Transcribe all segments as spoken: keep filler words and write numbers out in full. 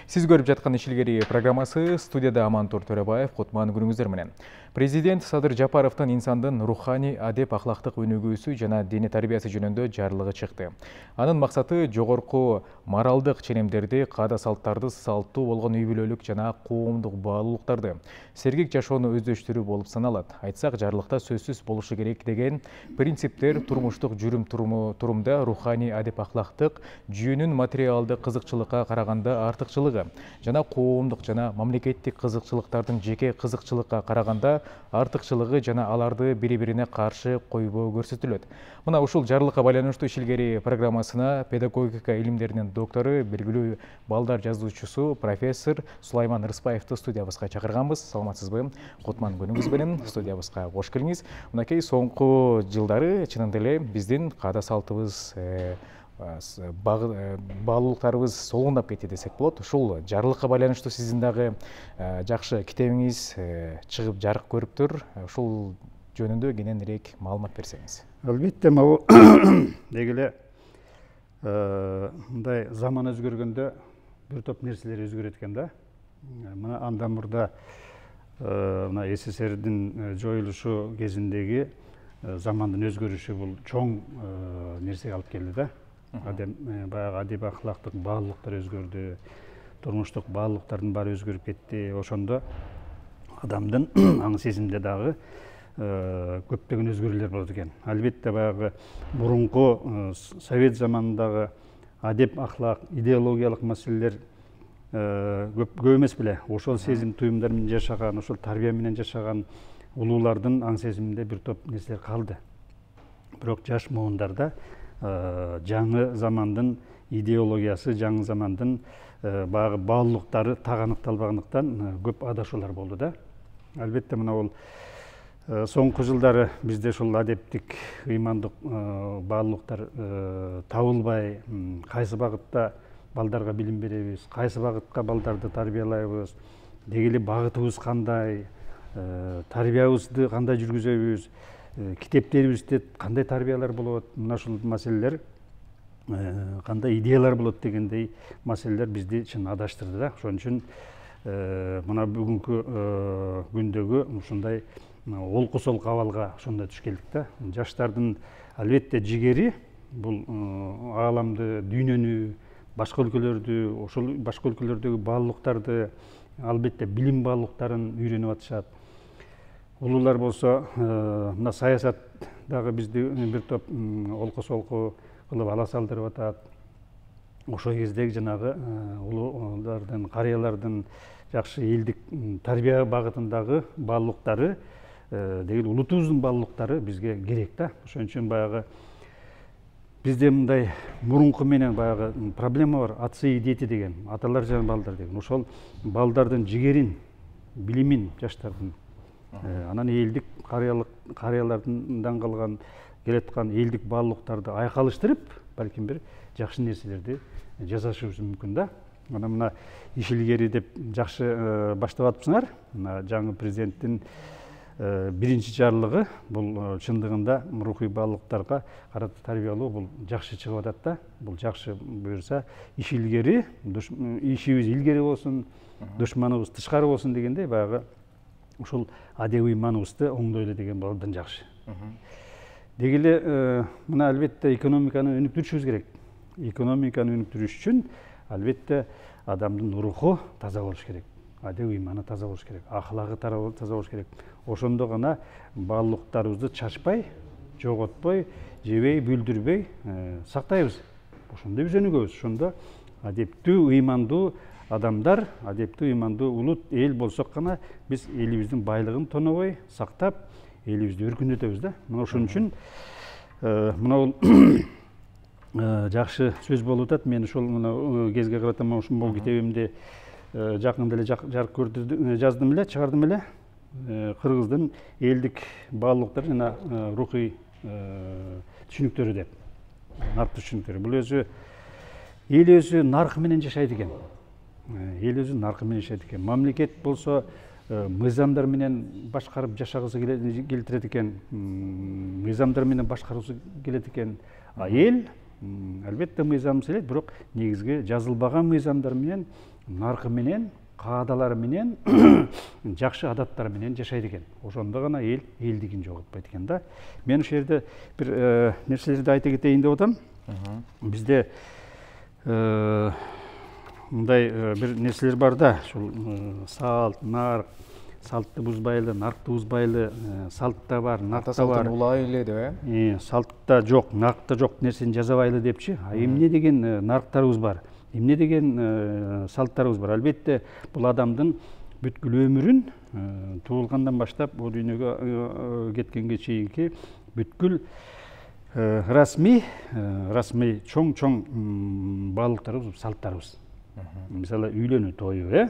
Сиз көрүп жаткан Ишилгери программасы, студияда Амантур Төрөбаев, Кутман, күнүңүздөр менен. Президент Садыр Жапаровдун инсандын руханий, адеп, ахлактык өнүгүүсү жана диний тарбиясы жөнүндө жарлыгы чыкты. Анын максаты жогорку моралдык ченемдерди, каада салттарды, салттуу болгон үй бүлөлүк жана коомдук баалуулуктарды сергек жашоону өздөштүрүү болуп саналат. Айтсак, жарлыкта сөзсүз болушу керек деген принциптер турмуштук жүрүм турумда руханий, адеп, ахлактык жүйөнүн материалдык кызыкчылыкка караганда артыкчылыгы жана коомдук жана мамлекеттик кызыкчылыктардын жеке кызыкчылыкка караганда артыкчылыгы жана аларды бири-бирине каршы койбоо көрсөтүлөт. Мына ушул жарлыкка байланыштуу Ишилгери программасына педагогика илимдеринин доктору, белгилүү балдар жазуучусу профессор Сулайман Рыспаевди студиябызга чакырганбыз. Саламатсызбы? Кутман, күнүңүз менен студиябызга кош келиңиз. Мынакей соңку жылдары чынында эле биздин каада салтыбыз, баалуулуктарыбыз солундап кетти десек болот. Ушул жарлыкка байланыштуу сиздин дагы жакшы китебиңиз чыгып жарык көрүптүр. Ушул жөнүндө кененирээк маалымат берсеңиз. Албетте, могу деги эле мындай заман өзгөргөндө бир топ нерселер өзгөрөт экен да. Мына андан мурда мына СССРдин жоюлушу кезиндеги замандын өзгөрүшү бул чоң нерсеге алып келди да. Баягы адеп, ахлактык баалуулуктар өзгөрдү, турмуштук баалуулуктардын баары өзгөрүп кетти. Ошондо адамдын аң сезимде дагы көптөгөн өзгөрүүлөр болот экен. Албетте, баягы мурунку совет заманындагы адеп, ахлак, идеологиялык маселелер көп эмес беле. Ошол сезим туюмдар менен жашаган, ошол тарбия менен жашаган улуулардын аң сезиминде бир топ нерселер калды. Бирок жаш муундарда жаңы замандын идеологиясы, жаңы замандын баягы баалуулуктары таганыкталбагандыктан көп адашуулар болду да. Албетте, мына бул соңку жылдары бизде ушул адептик, ыймандык баалуулуктар табылбай, кайсы багытта балдарга билим беребиз, кайсы багытка балдарды тарбиялайбыз, деги эле багытыбыз кандай, тарбиябызды кандай жүргүзөбүз, китептерибизде кандай тарбиялар болот, мына ушул маселелер, кандай идеялар болот дегендей маселелер бизди чын адаштырды да. Ошон үчүн мына бүгүнкү күндөгү ушундай олку солку абалга ошондой түшкелдик да. Жаштардын албетте жигери бул ааламды, дүйнөнү, башка өлкөлөрдү, ошол башка өлкөлөрдөгү баалуулуктарды, албетте билим баалуулуктарын үйрөнүп атышат. Улуулар болсо мына саясат дагы бизди бир топ олку солку кылып ала салдырып атат. Ошол кездеги жанагы улуулардын, карыялардын жакшы элдик тарбия багытындагы баалуулуктары, деги эле улутубуздун баалуулуктары бизге керек да. Ошон үчүн баягы бизде мындай мурунку менен баягы проблема бар. Отцы и дети деген, аталар жана балдар деген. Ошол балдардын жигерин, билимин жаштардын, анан элдик карыялардан калган келаткан элдик баалуулуктарды айкалыштырып, балким бир жакшы нерселерди жасашыбыз мүмкүн да. Мына мына Ишилгери деп жакшы баштап атыпсыңар. Мына жаңы президенттин биринчи жарлыгы бул чындыгында рухий баалуулуктарга карата тарбиялоо бул жакшы чыгып атат да. Бул жакшы буюрса Ишилгери, ишибиз илгери болсун, душманыбыз тышкары болсун дегендей баягы ушул адеп ыйманыбызды оңдойлу деген бол абдан жакшы. Деги эле мына албетте экономиканы өнүктүрүшүбүз керек. Экономиканы өнүктүрүш үчүн албетте адамдын руху таза болуш керек. Адеп ыйманы таза болуш керек, ахлагы таза болуш керек. Ошондо гана баалуулуктарыбызды чачпай, жоготпой, жебей, бүлдүрбөй сактайбыз. Ошондо биз өнүгөбүз. Ошондо адептүү, ыймандуу адамдар, адептүү, ыймандуу улут эл болсок гана биз элибиздин байлыгын тонобой сактап, элибизди өркүндөтөбүз да. Мына ошон үчүн мына бул жакшы сөз болуп атат. Мен ошол мына кезге карата ушул китебимди жакында эле жарык көрдүрдүм, жаздым эле, чыгардым эле. Кыргыздын элдик баалуулуктары жана рухий түшүнүктөрү деп. Наркы түшүнүктөрү. Бул өзү эл өзү наркы менен жашайт экен. Эл өзү наркы менен жашайт экен. Мамлекет болсо мыйзамдар менен башкарып жашагысы келтирет экен. Мыйзамдар менен башкаргысы келет экен. А эл албетте мыйзам элет, бирок негизги жазылбаган мыйзамдар менен наркы менен, каадалары менен, жакшы адаттары менен жашайт экен. Ошондо гана эл элдигин жоготпойт экен да. Мен ошол жерде бир нерселерди айта кетейин деп атам. Бизде мындай бир нерселер бар да, ушул салт, нарк, салтты бузбайлы, наркты бузбайлы, салтта бар, накта бар. Улайлы деп, э? Салтта жок, накта жок нерсени жазабайлы депчи. А эмне деген нарктарыбыз бар? Эмне деген салттарыбыз бар? Албетте, бул адамдын бүткүл өмүрүн туулгандан баштап бул дүйнөгө кеткенге чейинки бүткүл расмий, расмий чоң-чоң баалыктарыбыз, салттарыбыз. Мисалы, үйлөнүү тою, э?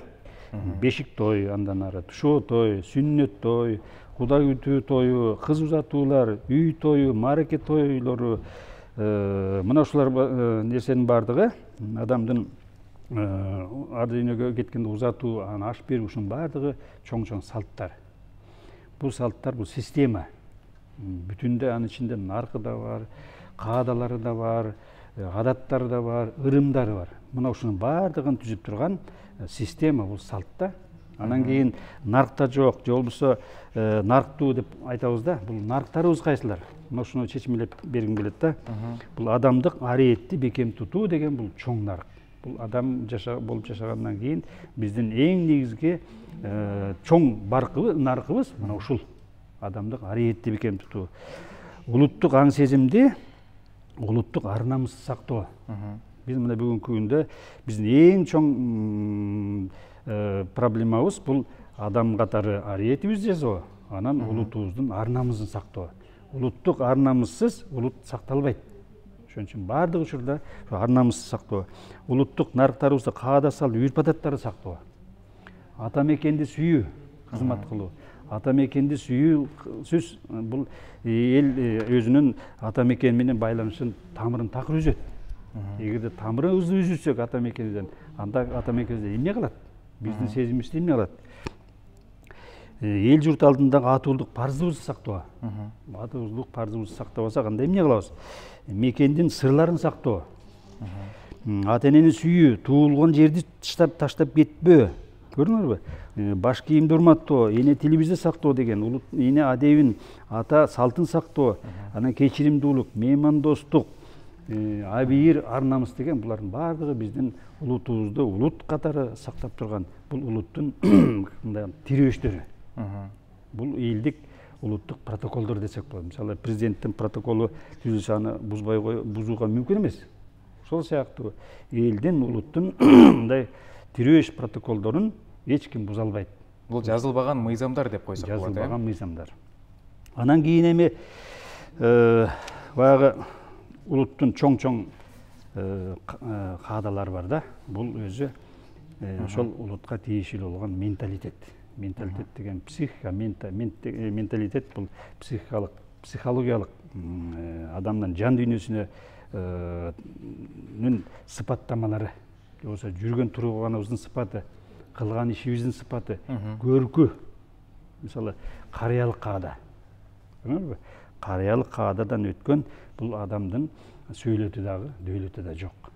Бешик тою, андан ары тушоо тою, сүннөт тою, куда күтүү тою, кыз узатуулар, үй тою, маареке тойлору, мына ушулар нерсенин баардыгы адамдын ар дүйнөгө кеткенде узатуу, аны аш берүү, ушунун баардыгы чоң-чоң салттар. Бул салттар, бул система. Бүтүндө анын ичинде наркы да бар, каадалары да бар, адаттары да бар, ырымдары бар. Мына ушунун баардыгын түзүп турган система бул салтта. Анан кийин наркта жок, же болбосо нарктуу деп айтабыз да. Бул нарктарыбыз кайсылар? Мына ушуну чечимелеп бергим келет да. Бул адамдык ариетти бекем тутуу деген бул чоң нарк. Бул адам жаша болуп жашагандан кийин биздин эң негизги чоң баркыбыз, наркыбыз мына ушул. Адамдык ариетти бекем тутуу. Улуттук аң сезимди, улуттук ар намысты сактоо. Биз мына бүгүнкү күндө биздин эң чоң проблемабыз бул адам катары ариетибизди жасоо, анан улутубуздун ар намысын сактоо. Улуттук ар намыссыз улут сакталбайт. Ошон үчүн баардык учурда ар намысты сактоо, улуттук нарктарыбызды, каада салт, үрп адаттарды сактоо. Ата мекенди сүйүү, кызмат кылуу. Ата мекенди сүйүүсүз бул эл өзүнүн ата мекени менен байланышын, тамырын такыр үзөт. Эгерде тамырыбызды үзүрсөк ата мекенибизден, анда ата мекенибизде эмне калат? Биздин сезимибизде эмне калат? Эл журт алдындагы атуулук парзыбызды сактоо. Атуулук парзыбызды сактабасак анда эмне кылабыз? Мекендин сырларын сактоо. Ата энени сүйүү, туулган жерди таштап кетпөө. Көрдүңүзбү? Баш кийимди урматтоо, эне тилибизди сактоо деген, улут эне адебин, ата салтын сактоо, анан кечиримдүүлүк, меймандостук, абийир, ар намыс деген булардын баардыгы биздин улутубузду улут катары сактап турган бул улуттун мындай тирөөчтөрү. Бул элдик улуттук протоколдор десек болот. Мисалы, президенттин протоколу түзүлсө аны бузбай бузууга мүмкүн эмес. Ошол сыяктуу элдин, улуттун мындай тирөөч протоколдорун эч ким буза албайт. Бул жазылбаган мыйзамдар деп койсок болот. Жазылбаган мыйзамдар. Анан кийин эми баягы улуттун чоң-чоң каадалары бар да. Бул өзү ошол улутка тиешелүү болгон менталитет. Менталитет деген психика, менталитет бул психикалык, психологиялык адамдын жан дүйнөсүнүн сыпаттамалары. Болбосо жүргөн турганыбыздын сыпаты, кылган ишибиздин сыпаты, көркү. Мисалы, карыялык каада. Карыялык каададан өткөн бул адамдын сөйлөтү дагы, дөөлөтү да жок.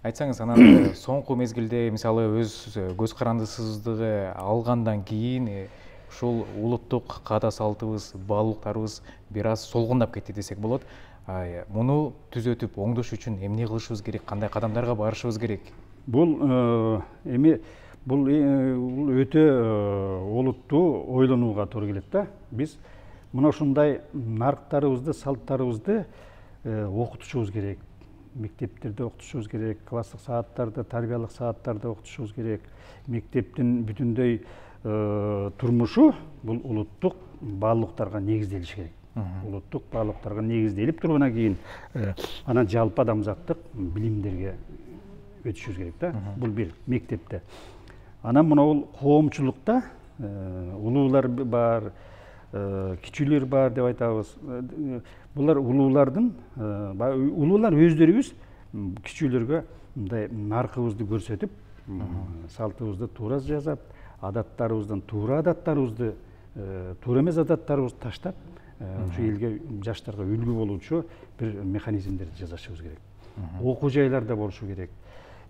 Айтсаңыз, анан соңку мезгилде мисалы өз көз карандысыздыгы алгандан кийин ушул улуттук каада салтыбыз, баалуулуктарыбыз бир аз солгундап кетти десек болот. Муну түзөтүп, оңдош үчүн эмне кылышыбыз керек, кандай кадамдарга барышыбыз керек? Бул эми бул өтө олуттуу ойлонууга туура келет да. Биз мына ушундай нарктарыбызды, салттарыбызды окутушубуз керек. Мектептерде окутушубуз керек, класстык сааттарда, тарбиялык сааттарда окутушубуз керек. Мектептин бүтүндөй турмушу бул улуттук баалуулуктарга негизделиш керек. Улуттук баалуулуктарга негизделип тургандан кийин анан жалпы адамзаттык билимдерге өтүшүбүз керек да. Бул бир мектепте. Анан мына бул коомчулукта улуулар бар, кичүүлөр бар деп айтабыз. Булар улуулардын, улуулар өздөрүбүз кичүүлөргө мындай наркыбызды көрсөтүп, салтыбызды туура жасап, адаттарыбыздан туура адаттарыбызды, туура эмес адаттарыбызды таштап, ушу элге, жаштарга үлгү болуучу бир механизмдерди жасашыбыз керек. Окуу жайларда болушу керек.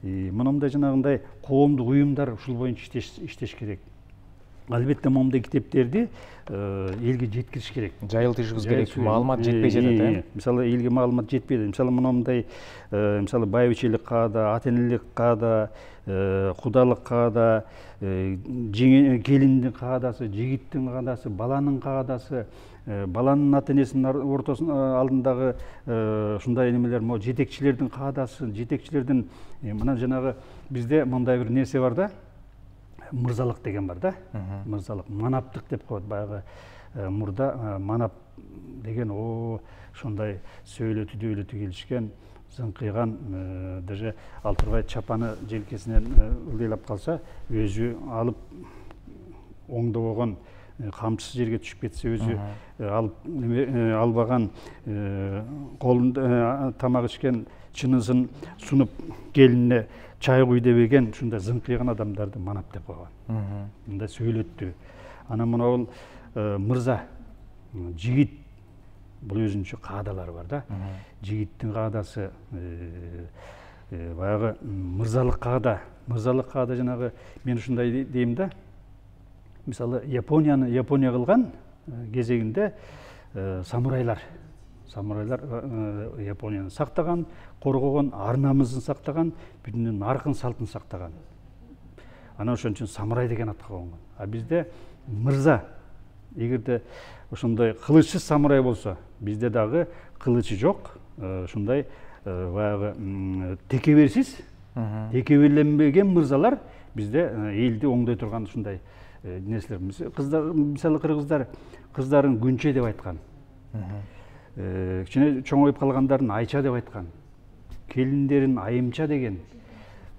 Мындай жанагындай коомдук уюмдар ушул боюнча иштеш керек. Албетте момундай китептерди элге жеткириш керек. Жайылтышыбыз керек, маалымат жетпей жатат, э? Мисалы элге маалымат жетпейт. Мисалы мындай мисалы байбичелик каада, ата-энелик каада, кудалык каада, келиндин каадасы, жигиттин каадасы, баланын каадасы, баланын ата-энесинин ортосунун алдындагы ушундай немелер, могу жетекчилердин каадасы, жетекчилердин мына жанагы бизде мындай бир нерсе бар да. Мырзалык деген бар да. Мырзалык, манаптык деп коет. Баягы мурда манап деген о ошондой сөйлөтү дөйлөтү келишкен, зыңкыйган, даже ал турбай чапаны желкесинен ылдыйлап калса, өзү алып оңдобогон, камчысы жерге түшүп кетсе өзү алып албаган, колунда тамак ичкен чынысын сунуп келинине чай куй дебеген ушундай зыңкыйган адамдарды манап деп койгон. Мындай сөйлөттү. Анан мына мырза, жигит, бул өзүнчө каадалары бар да. Жигиттин каадасы баягы мырзалык каада. Мырзалык каада жанагы мен ушундай дейм да. Мисалы Японияны Япония кылган кезегинде самурайлар Самурайлар Японияны сактаган, коргогон, ар намысын сактаган, бүтүнүн наркын салтын сактаган. Анан ошон үчүн самурай деген атка конгон. А бизде мырза, эгерде ошондой кылычсыз самурай болсо, бизде дагы кылычы жок, ушундай баягы текеберсиз, текеберленбеген мырзалар бизде элди оңдой турган ушундай нерселер. Мисалы кыргыздар кыздарын күнче деп айткан. Кичине чоңоюп калгандарын айча деп айткан. Келиндерин айымча деген.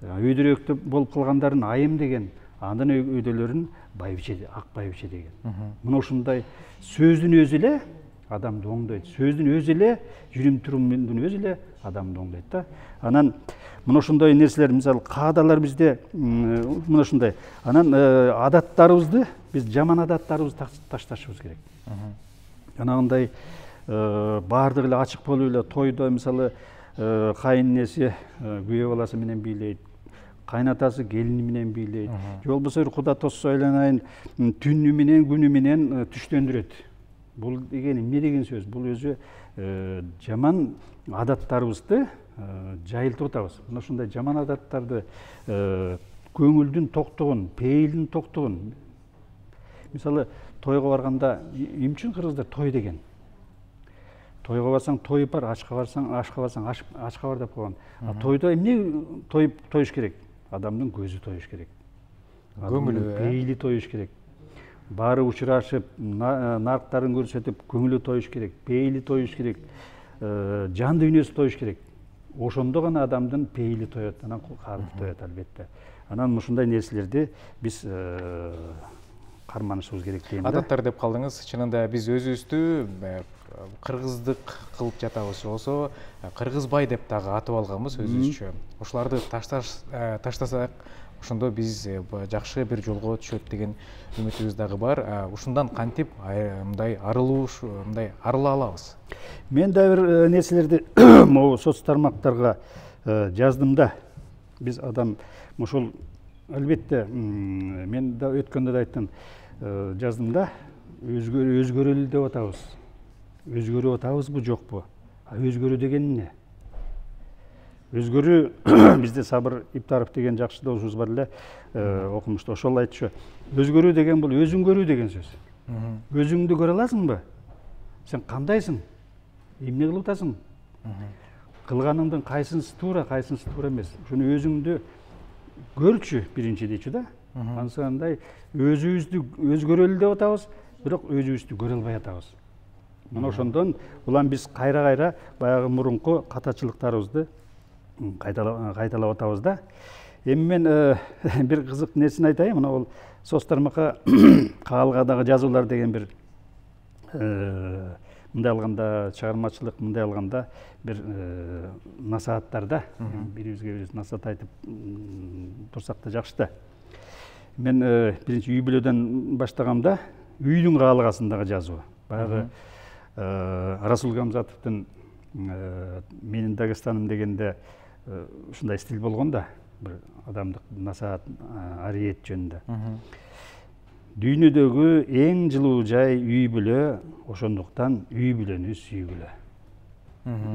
Өйдөрөктө болуп калгандарын айым деген. Андан өйдөлөрүн байбиче, ак байбиче деген. Мына ушундай сөздүн өзү эле адамды оңдойт. Сөздүн өзү эле, жүрүм турумдун өзү эле адамды оңдойт да. Анан мына ушундай нерселер, мисалы каадалар бизде мына ушундай. Анан адаттарыбызды, биз жаман адаттарыбызды ташташыбыз керек. Жанагындай баардыгы эле ачык болуп эле тойдо мисалы кайыненеси күйөө баласы менен бийлейт, кайнатасы келини менен бийлейт, же болбосо куда тоссо айланайын түнү менен күнү менен түштөндүрөт. Бул деген эмне деген сөз? Бул өзү жаман адаттарыбызды жайылтып атабыз. Мына ушундай жаман адаттарды көңүлдүн токтугун, пейилдин токтугун. Мисалы тойго барганда эмне үчүн кыргыздар той деген? Тойго барсаң той бар, ашка барсаң, ашка барсаң ашка бар деп койгон. А тойдо эмне той тоюш керек? Адамдын көзү тоюш керек. Көңүлү, пейили тоюш керек. Баары учурашып, нарктарын көрсөтүп, көңүлү тоюш керек, пейили тоюш керек, жан дүйнөсү тоюш керек. Ошондо гана адамдын пейили тоет, анан калпы тоет албетте. Анан ушундай нерселерди биз карманышыбыз керек дейм да. Адаттар деп калдыңыз. Чынында биз өзүбүздү кыргыздык кылып жатабыз, болсо кыргызбай деп дагы атып алганбыз өзүбүзчө. Ушуларды таштасак, ошондо биз жакшы бир жолго түшөт деген үмүтүбүз дагы бар. Ушундан кантип мындай арылуу, мындай арыла алабыз? Мен да бир нерселерди могу соц тармактарга жаздым да. Биз адам ошол албетте мен да өткөндө да айттым, жаздым да, өзгөрөлү деп атабыз. Өзгөрүп атабызбы, жокпу? А өзгөрүү деген эмне? Өзгөрүү бизде Сабыр Иптаров деген жакшы досубуз бар эле, окумушту. Ошол айтчу. Өзгөрүү деген бул өзүң көрүү деген сөз. Өзүңдү көрө аласыңбы? Сен кандайсың? Эмне кылып атасың? Кылганыңдын кайсынысы туура, кайсынысы туура эмес. Ошону өзүңдү көрчү биринчи дейчү да. Ансандай өзүбүздү өзгөрөлү деп атабыз, бирок өзүбүздү көрө албай атабыз. Мына ошондон улам биз кайра-кайра баягы мурунку катачылыктарыбызды кайталап атабыз да. Эми мен бир кызык нерсени айтайын. Мына бул соц тармакка каалгадагы жазуулар деген бир мындай алганда чыгармачылык, мындай алганда бир насааттар да. Бирибизге бирибиз насаат айтып турсак да жакшы да. Мен биринчи үй бүлөдөн баштагам да, үйдүн каалгасындагы жазуу. Баягы Расул Гамзатовдун менин Дагестаным дегенде ушундай стиль болгон да. бир адамдык насаат ариет жөнүндө. Дүйнөдөгү эң жылуу жай үй бүлө, ошондуктан үй бүлөнү сүйгүлө.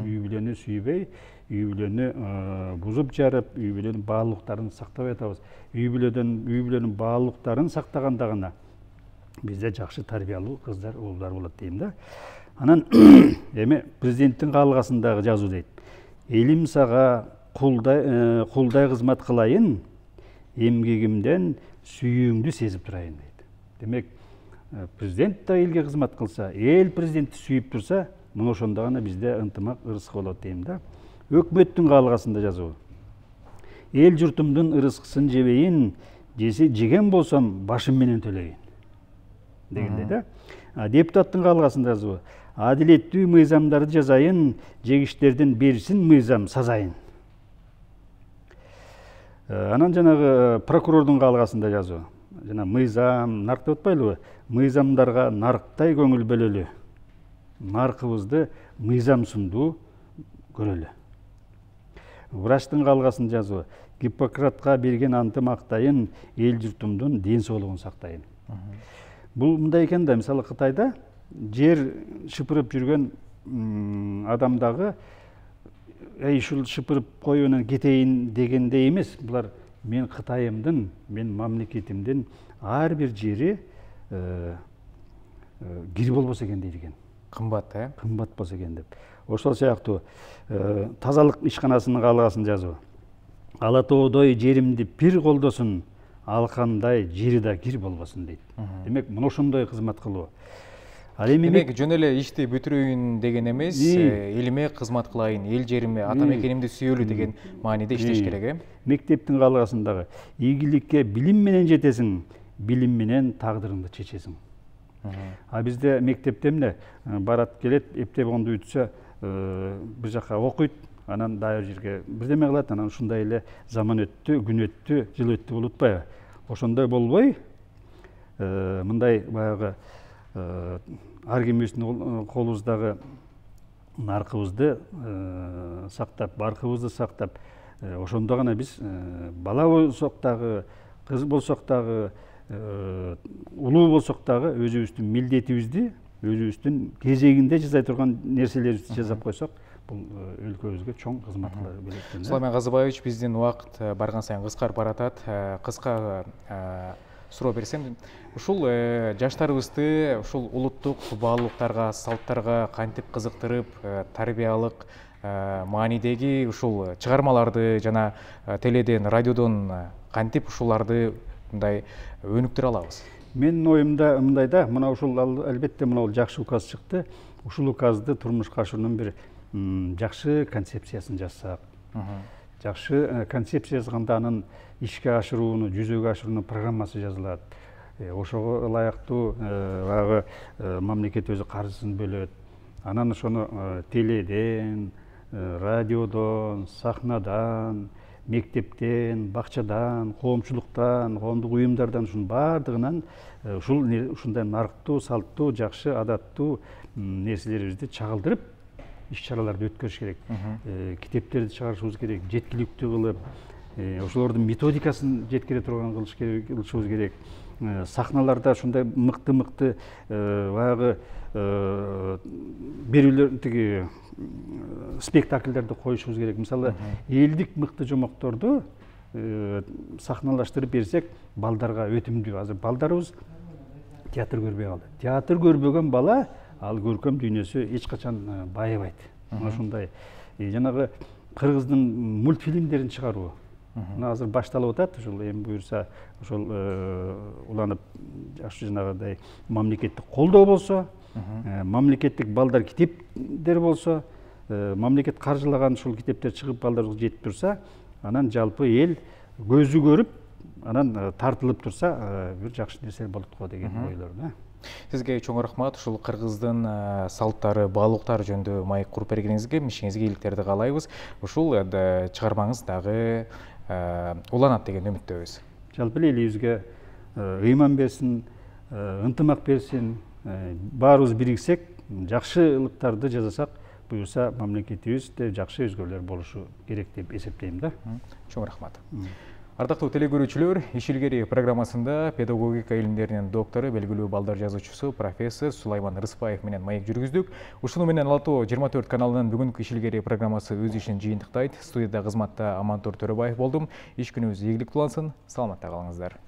Үй бүлөнү сүйбөй, үй бүлөнү бузуп жарып, үй бүлөнүн баалуулуктарын сактабай атабыз. Үй бүлөдөн үй бүлөнүн баалуулуктарын сактаганда гана бизде жакшы тарбиялуу кыздар, уулдар болот дейм да. Анан эми президенттин каалгасындагы жазуу дейт. Элим сага кулдай кулдай кызмат кылайын, эмгегимден сүйүүңдү сезип турайын дейт. Демек, президент да элге кызмат кылса, эл президентти сүйүп турса, мына ошондо гана бизде ынтымак, ырыскы болот дейм да. Өкмөттүн каалгасында жазуу. Эл журтумдун ырыскысын жебейин, жеген болсом башым менен төлөйүн дегендей да. Депутаттын каалгасында жазуу. Адилеттүү мыйзамдарды жазайын, жегиштердин берсин мыйзам сазайын. Анан жанагы прокурордун каалгасында жазуу. Жана мыйзам, нарк деп атпайлыбы? Мыйзамдарга нарктай көңүл бөлөлү. Наркыбызды мыйзамсындуу көрөлү. Врачтын каалгасын жазуу. Гиппократка берген антым актайын, эл журтумдун ден соолугун сактайын. Бул мындай экен да, мисалы Кытайда жер шыпырып жүргөн адамдагы эй ушул шыпырып коюп анан кетейин дегендей эмес. Булар мен Кытайымдын, мен мамлекетимдин ар бир жери кир болбосо экен дейт экен. Кымбат, э? Кымбат болсо экен деп. Ошол сыяктуу тазалык ишканасынын каалгасын жазуу. Ала тоодой жеримди пир колдосун, алкандай жери да кир болбосун дейт. Демек, мына ошондой кызмат кылуу. Демек, жөн эле ишти бүтүрөйүн деген эмес, элиме кызмат кылайын, эл жериме, ата мекенимди сүйөлү деген мааниде иштеш керек, э? Мектептин каалгасындагы ийгиликке билим менен жетесиң, билим менен тагдырыңды чечесиң. А бизде мектепте эмне барат келет, эптеп онду үтсө, бир жака окуйт, анан дагы бир жерге бирдеме кылат, анан ушундай эле заман өттү, күн өттү, жыл өттү болуп атпайбы? Ошондой болбой, мындай баягы ар кимибиздин колубуздагы наркыбызды сактап, баркыбызды сактап, ошондо гана биз бала болсок дагы, кыз болсок дагы, улуу болсок дагы өзүбүздүн милдетибизди, өзүбүздүн кезегинде жасай турган нерселерибизди жасап койсок, бул өлкөбүзгө чоң кызмат кыла берет экен. Сулайман Казыбаевич, биздин убакыт барган сайын кыскарып баратат. Кыска суроо берсем, ушул жаштарыбызды ушул улуттук баалуулуктарга, салттарга кантип кызыктырып, тарбиялык маанидеги ушул чыгармаларды жана теледен, радиодон кантип ушуларды мындай өнүктүрө алабыз? Менин оюмда мындай да, мына ушул албетте мына жакшы указ чыкты. Ушул указды турмушка ашыруунун бир жакшы концепциясын жазсак, жакшы концепция жазганда анын ишке ашырууну, жүзөгө ашыруунун программасы жазылат. Ошого ылайыктуу баягы мамлекет өзү каржысын бөлөт. Анан ошону теледен, радиодон, сахнадан, мектептен, бакчадан, коомчулуктан, коомдук уюмдардан ушунун баардыгынан ушул ушундай нарктуу, салттуу, жакшы, адаттуу нерселерибизди чагылдырып, иш-чараларды өткөрүш керек. Китептерди чыгарышыбыз керек, жеткиликтүү кылып, ошолордун методикасын жеткире турган кылышыбыз керек. Сахналарда ушундай мыкты-мыкты баягы берүүлөр, тиги спектакльдерди коюшубуз керек. Мисалы, элдик мыкты жомокторду сахналаштырып берсек, балдарга өтүмдүү. Азыр балдарыбыз театр көрбөй калды. Театр көрбөгөн бала ал көркөм дүйнөсү эч качан байыбайт. Ошондой жанагы кыргыздын мультфильмдерин чыгаруу. Мына азыр башталып атат, ушул эми буюрса, ошол уланып, жакшы жанагыдай мамлекеттик колдоо болсо, мамлекеттик балдар китептер болсо, мамлекет каржылаган ушул китептер чыгып балдарга жетип турса, анан жалпы эл көзү көрүп, анан тартылып турса, бир жакшы нерсе болот го деген ойлор да. Сизге чоң рахмат, ушул кыргыздын салттары, баалуулуктары жөнүндө маек куруп бергениңизге, ишиңизге ийгиликтерди каалайбыз. Ушул чыгармаңыз дагы уланат деген үмүттөбүз. Жалпы элибизге ыйман берсин, ынтымак берсин, баарыбыз бириксек, жакшылыктарды жасасак, буюрса мамлекетибизде жакшы өзгөрүүлөр болушу керек деп эсептейм да. Чоң рахмат. Ардактуу телекөрүүчүлөр, Иш илгери программасында педагогика илимдеринин доктору, белгилүү балдар жазуучусу профессор Сулайман Рыспаев менен маек жүргүздүк. Ушуну менен Ала-Тоо жыйырма төрт каналынын бүгүнкү Иш илгери программасы өз ишин жыйынтыктайт. Студияда кызматта Амантур Төрөбаев болдум. Иш күнүңүз ийгиликтүү улансын. Саламатта калыңыздар.